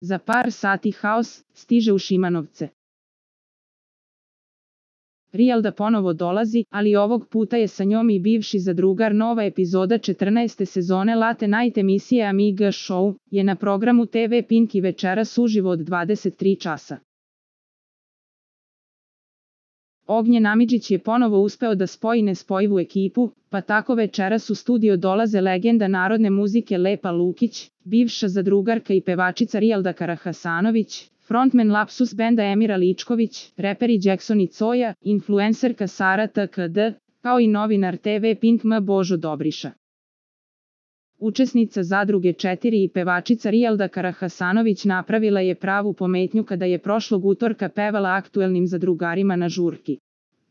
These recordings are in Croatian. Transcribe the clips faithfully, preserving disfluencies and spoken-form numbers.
Za par sati haos stiže u Šimanovce. Rijelda ponovo dolazi, ali ovog puta je sa njom i bivši zadrugar. Nova epizoda četrnaeste sezone Late Night emisije Amiga Show je na programu te ve Pink i večeras uživo od dvadeset tri časa. Ognjen Amidžić je ponovo uspeo da spoji nespojivu ekipu, pa tako večeras u studio dolaze legenda narodne muzike Lepa Lukić, bivša zadrugarka i pevačica Rijelda Karahasanović, frontman Lapsus benda Emira Ličković, reperi Jackson i Coja, influencerka Sara te ka de, kao i novinar te ve Pink M Božo Dobriša. Učesnica Zadruge četiri i pevačica Rijelda Karahasanović napravila je pravu pometnju kada je prošlog utorka pevala aktuelnim zadrugarima na žurki.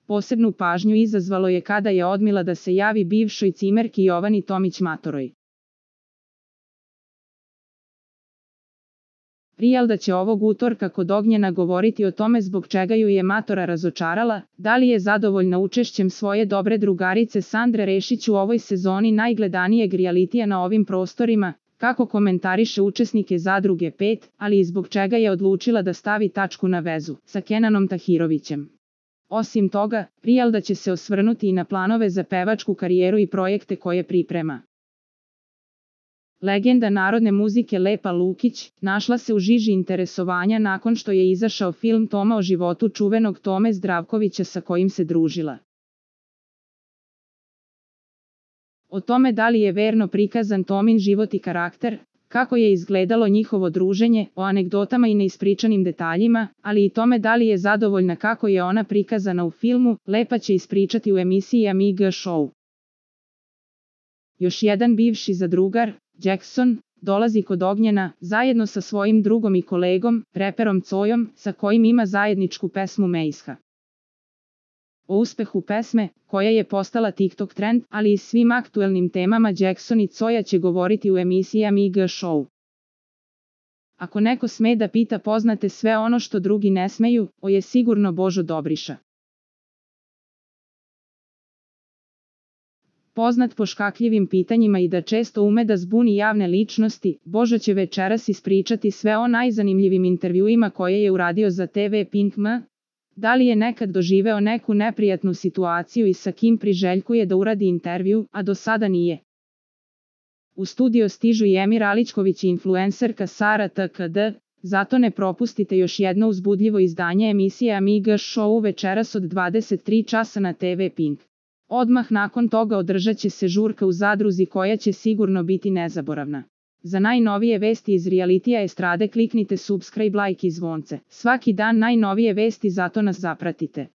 Posebnu pažnju izazvalo je kada je odmila da se javi bivšoj cimerki Jovani Tomić Matoroj. Rijelda će ovog utorka kod Ognjena govoriti o tome zbog čega ju je Matora razočarala, da li je zadovoljna učešćem svoje dobre drugarice Sandre Rešić u ovoj sezoni najgledanijeg realitija na ovim prostorima, kako komentariše učesnike Zadruge pet, ali i zbog čega je odlučila da stavi tačku na vezu sa Kenanom Tahirovićem. Osim toga, Rijelda će se osvrnuti i na planove za pevačku karijeru i projekte koje priprema. Legenda narodne muzike Lepa Lukić našla se u žiži interesovanja nakon što je izašao film Toma o životu čuvenog Tome Zdravkovića sa kojim se družila. O tome da li je verno prikazan Tomin život i karakter, kako je izgledalo njihovo druženje, o anegdotama i neispričanim detaljima, ali i tome da li je zadovoljna kako je ona prikazana u filmu, Lepa će ispričati u emisiji Amiga Show. Još jedan bivši zadrugar, Jackson, dolazi kod Ognjena, zajedno sa svojim drugom i kolegom, reperom Cojom, sa kojim ima zajedničku pesmu Meisha. O uspehu pesme, koja je postala TikTok trend, ali i svim aktuelnim temama Jackson i Coja će govoriti u emisiji Amiga Show. Ako neko sme da pita poznate sve ono što drugi ne smeju, o je sigurno Božo Dobriša. Poznat po škakljivim pitanjima i da često ume da zbuni javne ličnosti, Božo će večeras ispričati sve o najzanimljivim intervjuima koje je uradio za te ve Pink M. Da li je nekad doživeo neku neprijatnu situaciju i sa kim priželjkuje da uradi intervju, a do sada nije. U studio stižu i Emir Aličković i influencerka Sara te ka de, zato ne propustite još jedno uzbudljivo izdanje emisije Amiga Show večeras od dvadeset tri časa na te ve Pink. Odmah nakon toga održat će se žurka u Zadruzi koja će sigurno biti nezaboravna. Za najnovije vesti iz realitija estrade kliknite subscribe, like i zvonce. Svaki dan najnovije vesti, zato nas zapratite.